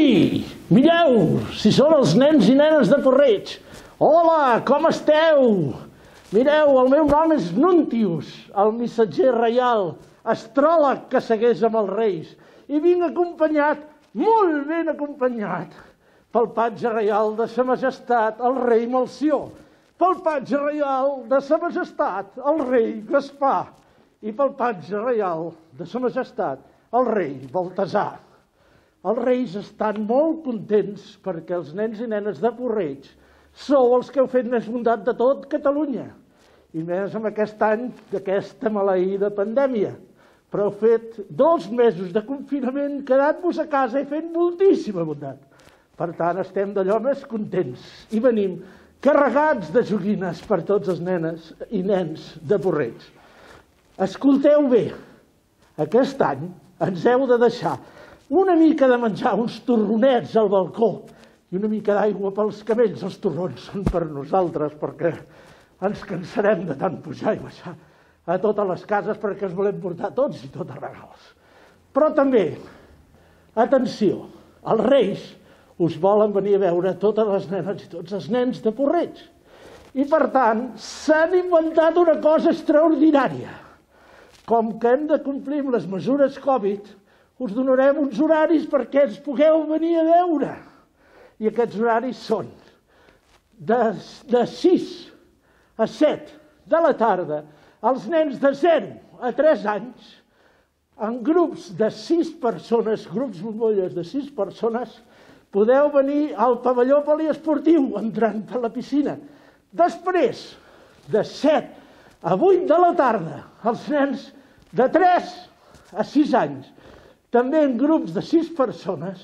Ei, mireu, si són els nens i nenes de Porreig. Hola, com esteu? Mireu, el meu nom és Nuntius, el missatger reial, astròleg que segueix amb els reis. I vinc acompanyat, molt ben acompanyat, pel patge reial de sa majestat, el rei Melcior, pel patge reial de sa majestat, el rei Gaspar, i pel patge reial de sa majestat, el rei Baltasar. Els reis estan molt contents perquè els nens i nenes de Porreig sou els que heu fet més bondat de tot Catalunya. I més amb aquest any d'aquesta maleïda pandèmia. Però heu fet 2 mesos de confinament, quedant-vos a casa i fent moltíssima bondat. Per tant, estem d'allò més contents i venim carregats de joguines per tots els nenes i nens de Porreig. Escolteu bé, aquest any ens heu de deixar una mica de menjar, uns torronets al balcó i una mica d'aigua pels camells. Els torrons són per nosaltres perquè ens cansarem de tant pujar i baixar a totes les cases perquè ens volem portar tots i totes regals. Però també, atenció, els reis us volen venir a veure totes les nenes i tots els nens de Porreig. I per tant, s'han inventat una cosa extraordinària. Com que hem de complir amb les mesures Covid, us donarem uns horaris perquè ens pugueu venir a veure. I aquests horaris són de 6 a 7 de la tarda, els nens de 0 a 3 anys, en grups de 6 persones, grups bombolles de 6 persones, podeu venir al pavelló poliesportiu entrant per la piscina. Després, de 7 a 8 de la tarda, els nens de 3 a 6 anys, també en grups de 6 persones,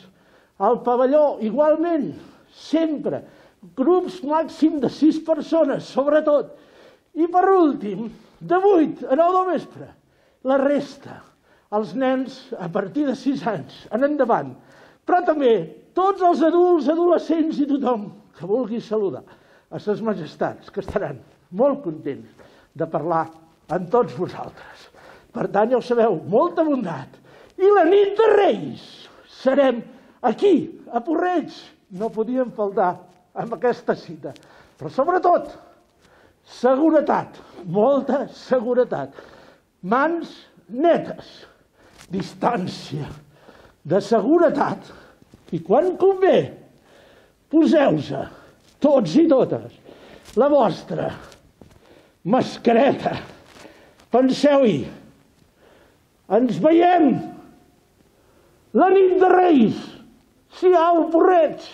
al pavelló igualment, sempre, grups màxim de 6 persones, sobretot. I per últim, de 8 a 9 del vespre, la resta, els nens a partir de 6 anys en endavant, però també tots els adults, adolescents i tothom que vulgui saludar a ses majestats, que estaran molt contents de parlar amb tots vosaltres. Per tant, ja ho sabeu, molta bondat. I la nit de Reis serem aquí, a Porreig. No podíem faltar amb aquesta cita. Però sobretot, seguretat, molta seguretat. Mans netes, distància de seguretat. I quan convé, poseu-se, tots i totes, la vostra mascareta. Penseu-hi, ens veiem la nit de Reis, si au, Porreig!